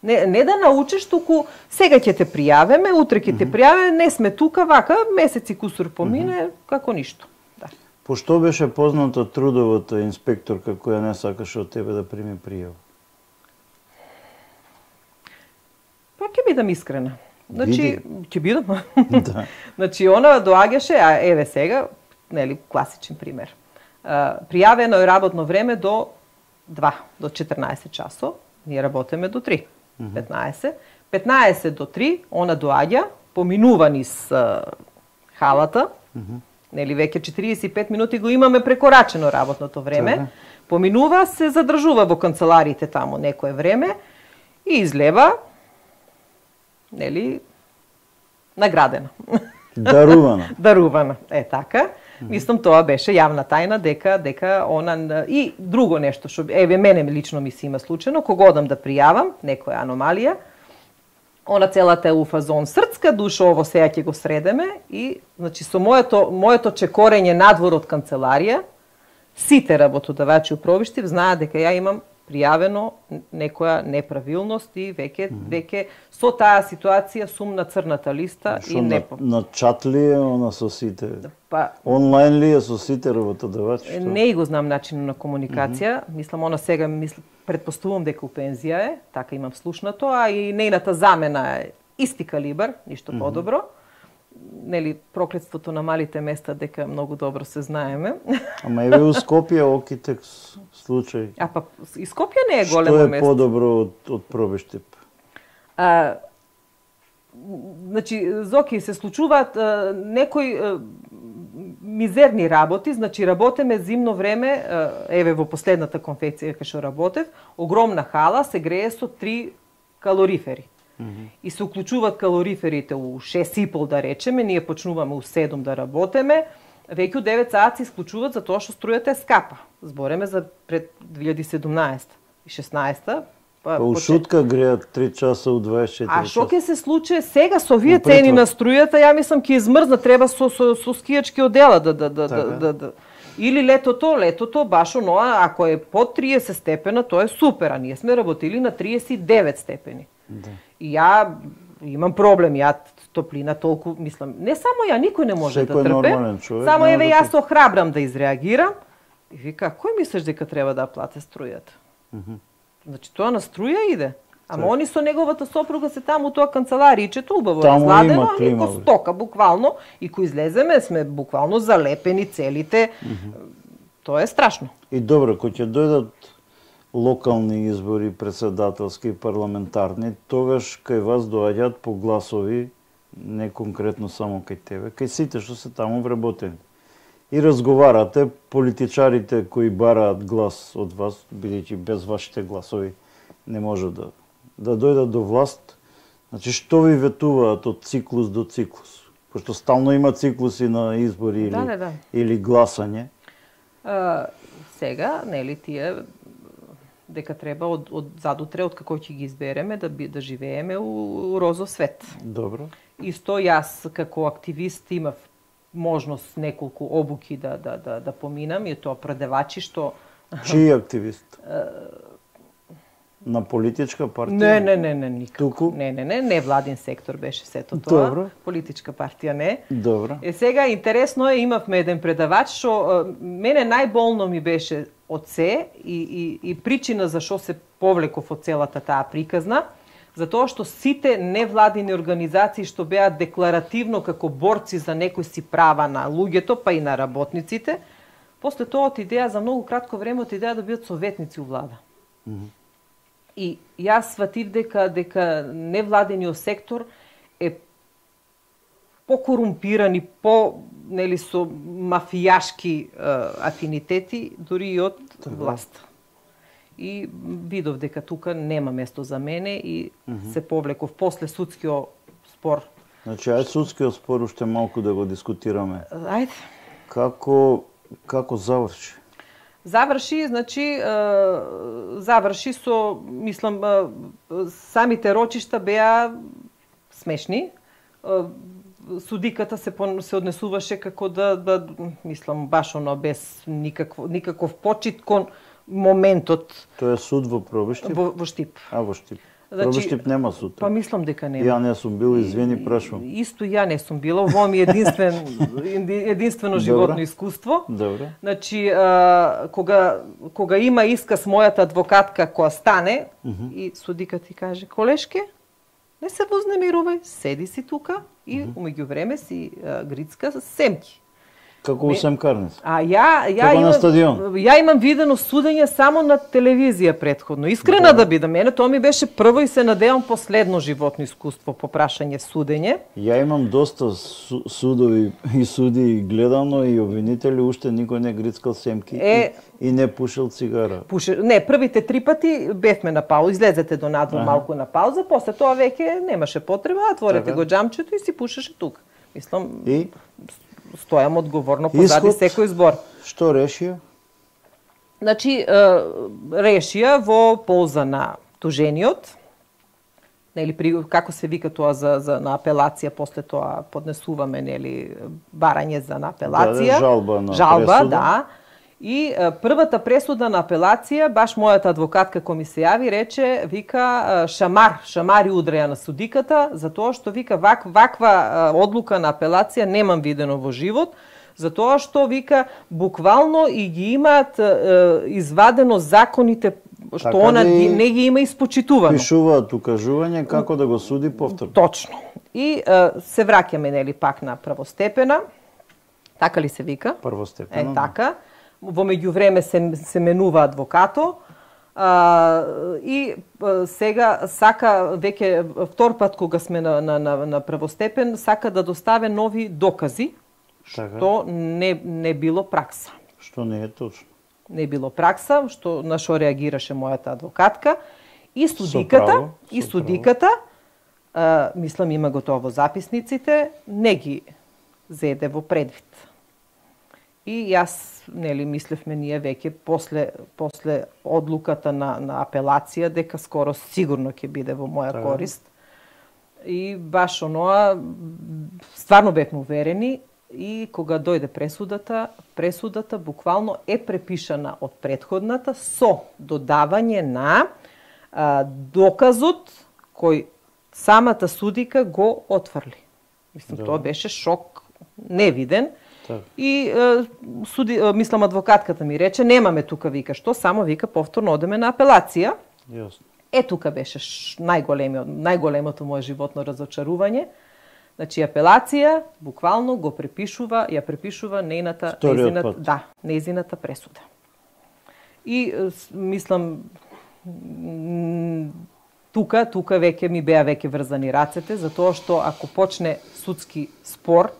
Не да научиш, туку сега ќе те пријавиме, утре ќе те пријавиме, не сме тука, вака, месеци кусур помине, како ништо. Да. По што беше позната трудовата инспекторка која не сакаше од тебе да прими пријава? Па ќе бидам искрена. Значи, ќе бидам. Да. Значи, она доаѓаше, а еве сега, нели, класичен пример. Пријавено е работно време до 2, до 14 часов, ние работиме до 3. 15 до 3, она доаѓа, поминува низ халата, нели веќе 45 минути го имаме прекорачено работното време, поминува, се задржува во канцелариите таму некое време и излева, нели, наградена. Дарувана. Дарувана, е така. Мислам, тоа беше јавна тајна дека она и друго нешто што еве мене лично ми се има случајно, кога одам да пријавам некоја аномалија, она целата е у фазон срцка душа, ово сега ќе го средеме и значи со моето чекорење надвор од канцеларија, сите работодавачи у Пробиштив знаат дека ја имам пријавено некоја неправилност и веќе со таа ситуација сум на црната листа и не на чат ли е она со сите? Па онлайн ли е со сите работодавачи? Не го знам начинот на комуникација, мислам она сега претпоставувам дека у пензија е, така имам слушнато, а и нејната замена е исти калибар, ништо подобро. Нели проклетството на малите места дека многу добро се знаеме. Ама еве у Скопје окитек случај. А па и Скопје не е големо место. Што е подобро од Пробиштип? Значи, Зоки, се случуваат некои мизерни работи, значи работеме зимно време, еве во последната конфекција кај што работев, огромна хала се грее со 3 калорифери. И се уклучуваат калориферите у 6:30 да речеме, ние почнуваме у 7 да работеме, веќе у 9 саат се исклучуваат за тоа што струјата е скапа. Збореме за пред 2017 и 16. Па у шутка греат 3 часа у 24 часа. А што ќе се случи сега со овие цени на струјата, ја мислам ќе измрзна, треба со скијачки одела да. Или летото баш оноа, ако е под 30 степена, тоа е супер, а ние сме работили на 39 степени. Да. И ја имам проблем, ја топлина толку, мислам, не само ја, никој не може да трпе. Само еве јас се охрабрам да изреагирам и вика, кој мислиш дека треба да плате струјата? Значи тоа на струја иде. Ама они со неговата сопруга се таму у тоа канцеларијчето, убаво разладено, а нико стока буквално, и кој излеземе сме буквално залепени целите. Тоа е страшно. И добро, кој ќе дојдат локални избори, председателски и парламентарни, тогаш кај вас доаѓаат по гласови, не конкретно само кај тебе, кај сите што се таму вработени. И разговарате, политичарите кои бараат глас од вас, бидејќи без вашите гласови не може да дојдат до власт. Значи, што ви ветуваат од циклус до циклус? Пошто стално има циклуси на избори или гласање. Сега, нели, тие дека треба од задутре, од како ќе ги избереме, да живееме у розов свет. Добро. Исто јас како активист имав можност неколку обуки да поминам, и тоа предавачи што... Чиј активист? На политичка партија? Не, никако. Не, владин сектор беше сето тоа. Добро. Политичка партија не. Добро. Сега интересно е, имавме еден предавач што мене најболно ми беше од се и причина за што се повлеков од целата таа приказна, затоа што сите невладини организации што беа декларативно како борци за некои си права на луѓето, па и на работниците, после тоа од идеја за многу кратко време од идеја да бидат советници у влада. И јас сватив дека невладениот сектор е покорумпиран и нели со мафијашки афинитети дури и од власт. И видов дека тука нема место за мене и се повлеков после судскиот спор. Значи, ајде судскиот спор уште малку да го дискутираме. Ајде. Како заврши? Заврши со, мислам, самите рочишта беа смешни. Судиката се однесуваше како мислам, баш оно без никаков почит кон моментот. Тоа е суд во Пробиштип? Во Штип. Во Штип. Пробиштип нема суд. Па мислам дека нема. Ја не сум бил, извини, прашувам. Исто ја не сум била, ово ми е единствено животно искуство. Добро. Значи, кога има исказ мојата адвокатка која стане и судиката ти каже, колешке, не се вознемирувај, седи си тука и умеѓу време си грицка с семки. Како у семкарница? Ја имам видено судење само на телевизија претходно. Искрена да бидам, мене тоа ми беше прво и се надевам последно животно искуство по прашање судење. Ја имам доста судови и суди гледано и обвинители, уште никој не грицкал семки и не пушил цигара. Не, првите 3 пати бевме на пауза, излезете до надвор малку на пауза, после тоа веќе немаше потреба, отворете го џамчето и си пушеше тука. Мислам, стојам одговорно позади секој збор. Што решија? Значи, решија во полза на тужениот, нели, како се вика тоа на апелација, после тоа поднесуваме, нели, барање за на апелација. Жалба на пресуда. Да. И првата пресуда на апелација, баш мојата адвокатка кој ми се јави, рече, вика, шамари удреја на судиката, затоа што, вика, ваква одлука на апелација немам видено во живот, затоа што, вика, буквално и ги имаат извадено законите, што така она не ги има испочитувано. Пишуваат укажување како да го суди повторно. Точно. И се враќаме, нели, пак на првостепена, така ли се вика? Првостепена. Така. Во меѓувреме се менува адвокато и сега сака веќе втор пат кога сме на првостепен сака да доставе нови докази, што не било пракса. Што не е точно. Не било пракса, на што реагираше мојата адвокатка и судиката, мислам има готово записниците, не ги зеде во предвид. И јас, нели, мислевме ние веќе после одлуката на апелација дека скоро сигурно ќе биде во моја корист. И баш оноа стварно бевме уверени и кога дојде пресудата буквално е препишана од претходната со додавање на доказот кој самата судика го отфрли. Мислам, тоа беше шок невиден. И мислам адвокатката ми рече немаме тука, вика, што само, вика, повторно одеме на апелација. Јасно. Тука беше најголемото мое животно разочарување. Значи апелација буквално ја препишува нејзината пресуда. И мислам тука веќе ми беа врзани рацете, затоа што ако почне судски спор,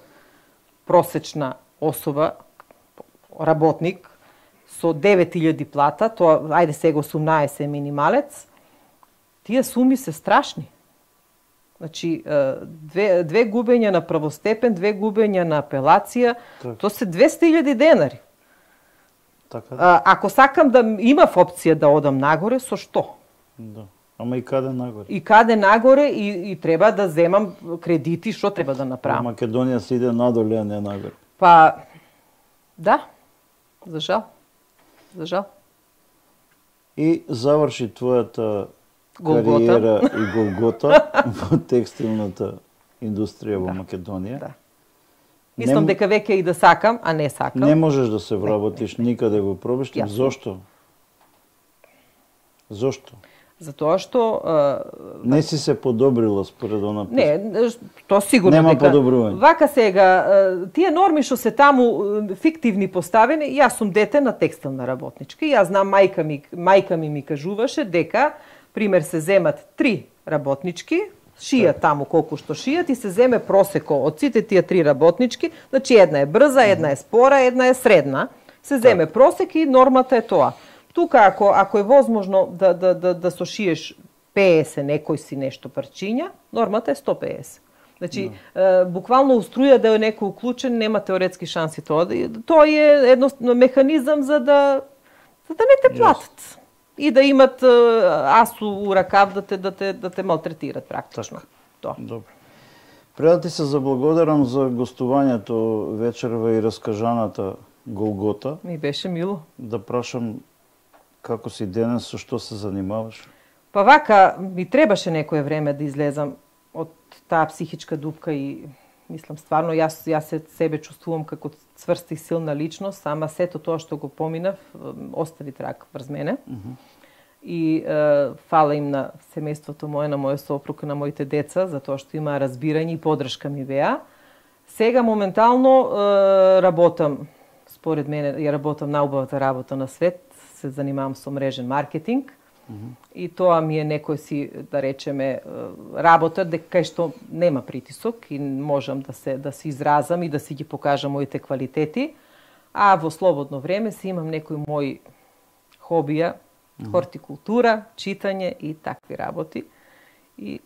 просечна особа, работник, со 9000 плата, тоа, ајде сега 18 минималец, тие суми се страшни. Значи, две губења на првостепен, 2 губења на апелација, тоа се 200.000 денари. Така. Ако сакам да имав опција да одам нагоре, со што? Да. Ама и каде нагоре? И каде нагоре и треба да земам кредити, што треба да направам? Македонија се иде надоле, а не нагоре. Па, да, за жал. И заврши твојата кариера и голгота во текстилната индустрија во Македонија. Да. Мислам дека веќе и да сакам, а не сакам. Не можеш да се вработиш никаде во пробиштен. Зошто? Затоа што не си се подобрила според она. Не, тоа сигурно нема подобрување. Вака сега тие норми што се таму фиктивни поставени, јас сум дете на текстилна работничка. Јас знам мајка ми кажуваше дека пример се земат 3 работнички, шијат таму колку што шијат и се земе просеко од сите тие 3 работнички, значи една е брза, една е спора, една е средна. Се земе просек и нормата е тоа. Тука ако е возможно да сошиеш 50 некој си нешто парчиња, нормата е 150. Значи буквално у струја да е некој уклучен, нема теоретски шанси тоа. Тоа е едноставно механизам за да не те платат. И да имат асу у ракав да те малтретират практично. Тоа. Добро. Пред да ти се заблагодарам за гостувањето вечерва и раскажаната голгота. Ми беше мило. Да прашам како си денес, со што се занимаваш? Па вака, ми требаше некое време да излезам од таа психичка дупка и мислам стварно јас себе чувствувам како цврста и силна личност, ама сето тоа што го поминав остави траг врз мене. И фала им на семејството мое, на мојот сопруг, на моите деца, затоа што има разбирање и поддршка ми беа. Сега моментално работам, според мене, ја работам најубавата работа на свет, се занимавам со мрежен маркетинг. И тоа ми е некој си, да речеме, работа кај што нема притисок и можам да се изразам и да си ги покажам моите квалитети. А во слободно време си имам некои мои хобија, хортикултура, читање и такви работи. И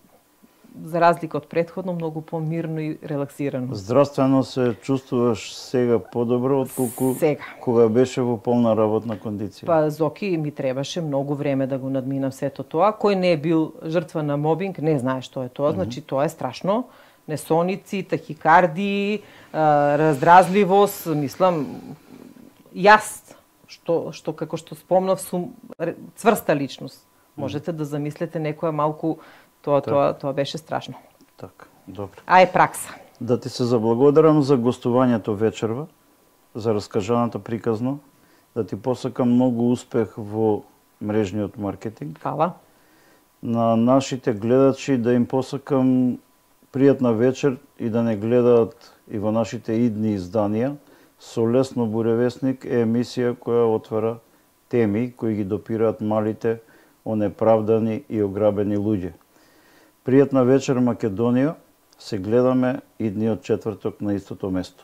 за разлика од претходно, многу помирно и релаксирано. Здравствено се чувствуваш сега подобро отколку кога беше во полна работна кондиција? Па Зоки ми требаше многу време да го надминам сето тоа. Кој не е бил жртва на мобинг, не знае што е тоа. Значи тоа е страшно. Несоници, тахикардии, раздразливост, мислам, јас што како што спомнав сум цврста личност. Можете да замислите некоја малку тоа беше страшно. Така, добро. А е пракса. Да ти се заблагодарам за гостувањето вечерва, за раскажаната приказно, да ти посакам многу успех во мрежниот маркетинг. Фала. На нашите гледачи да им посакам пријатна вечер и да не гледаат и во нашите идни изданија. Со Лесно буревесник е емисија која отвара теми кои ги допираат малите, онеправдани и ограбени луѓе. Пријатна вечер Македонија, се гледаме идниот четврток на истото место.